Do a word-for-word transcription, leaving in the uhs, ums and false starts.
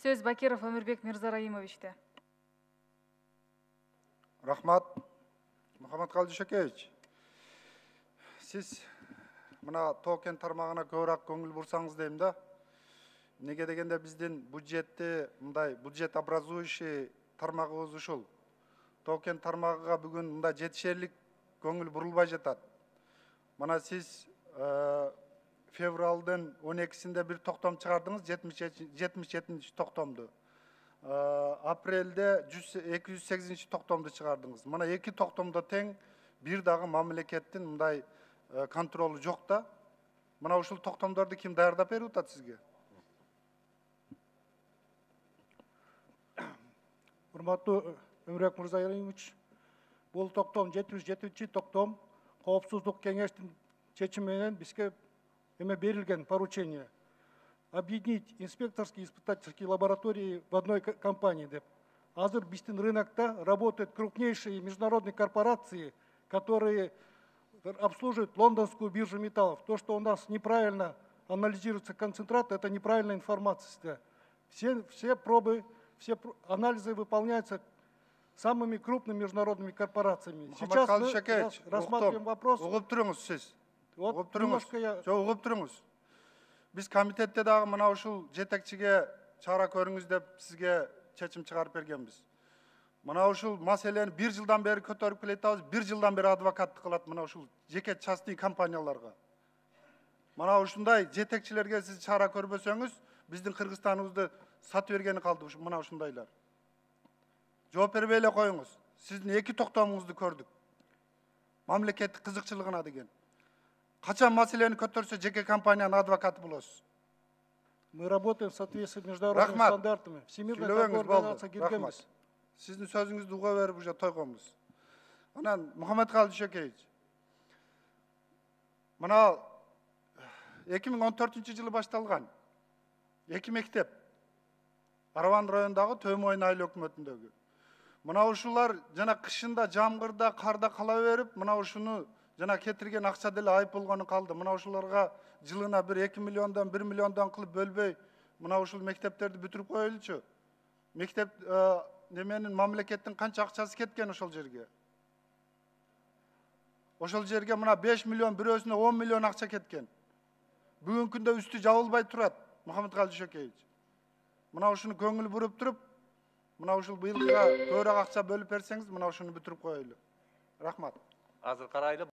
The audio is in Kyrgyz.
Сөз Бакиров Өмүрбек Мирзараимовичте. Рахмат. Мухаммадкалый Дүйшөкеевич, сиз мына токен тармагына көбүрөөк көңүл бурсаңыз дейм да. Неге дегенде биздин бюджетти мындай бюджет образующий тармагыбыз ушул. Токен тармагыга бүгүн мындай жетишерлик көңүл бурулбай жатат. Мына сиз февралдын он экисинде бир токтом чыгардыңыз, жетимиш жетинчи токтомду. Апрелде эки жүз сегизинчи токтомду чыгардыңыз. Мына эки токтомдо тең бир дагы мамлекеттин мындай контролу жок да. Мына ушул токтомдорду ким даярдап берип атат сизге? Урматтуу Өмүрбек Мырзараимович, бул токтом жетимиш жетинчи токтом Коопсуздук кеңештин чечими менен бизге эме берилген поручение объединить инспекторские и испытательские лаборатории в одной компании деп. Азыр биздин рынокто работают крупнейшие международные корпорации, которые обслуживают лондонскую биржу металлов. То, что у нас неправильно анализируется концентрат, это неправильная информация. Все, все пробы, все анализы выполняются самыми крупными международными корпорациями. Сейчас мы рассматриваем вопрос. Угуп туруңуз сиз. Вот Угуп туруңуз. немножко я... Жок, угуп туруңуз. Биз комитетте дагы мына ушул жетекчиге чара көрүңүз деп сизге чечим чыгарып бергенбиз. Мына ушул маселени бир жылдан бери көтөрүп келатабыз, бир жылдан бери адвокаттык кылат мына ушул жеке частный компанияларга. Мына ушундай жетекчилерге сиз чара көрбөсөңүз, биздин Кыргызстаныбызды сатып бергени калды мына ушундайлар. Жооп бербей эле коюңуз. Сиздин эки токтомуңузду көрдүк. Мамлекеттик кызыкчылыгына деген. Качан маселени көтөрсө жеке компаниянын адвокаты болосуз. Мы работаем в соответствии с международными стандартами. Всемирная торговая организация киргенбиз. Сиздин сөзүңүздү уга берип уже тойгонбуз. Анан Мухаммадкалый Дүйшөкеевич, мына эки миң он төртүнчү жылы башталган эки мектеп Араван районундагы Төмөйн айыл өкмөтүндөгү. Мына ушулар жана кышында, жамгырда, карда кала берип, мына ушуну жана кетирген акча деле айып болгону калды. Мына ушуларга жылына бир эки миллиондон, бир миллиондон кылып бөлбөй, мына ушул мектептерди бүтүрүп коелучу. Мектеп неменин мамлекеттин канча акчасы кеткен ошол жерге? Ошол жерге мына беш миллион, бирөөсүнө он миллион акча кеткен. Бүгүнкү күндө үстү жабылбай турат, Мухаммадкалый Дүйшөкеевич. Мына ушуну көңүл буруп туруп, мына ушул быйылкыга көбүрөөк акча бөлүп берсеңиз, мына ушуну бүтүрүп коелу. Рахмат. Азыр карайлы.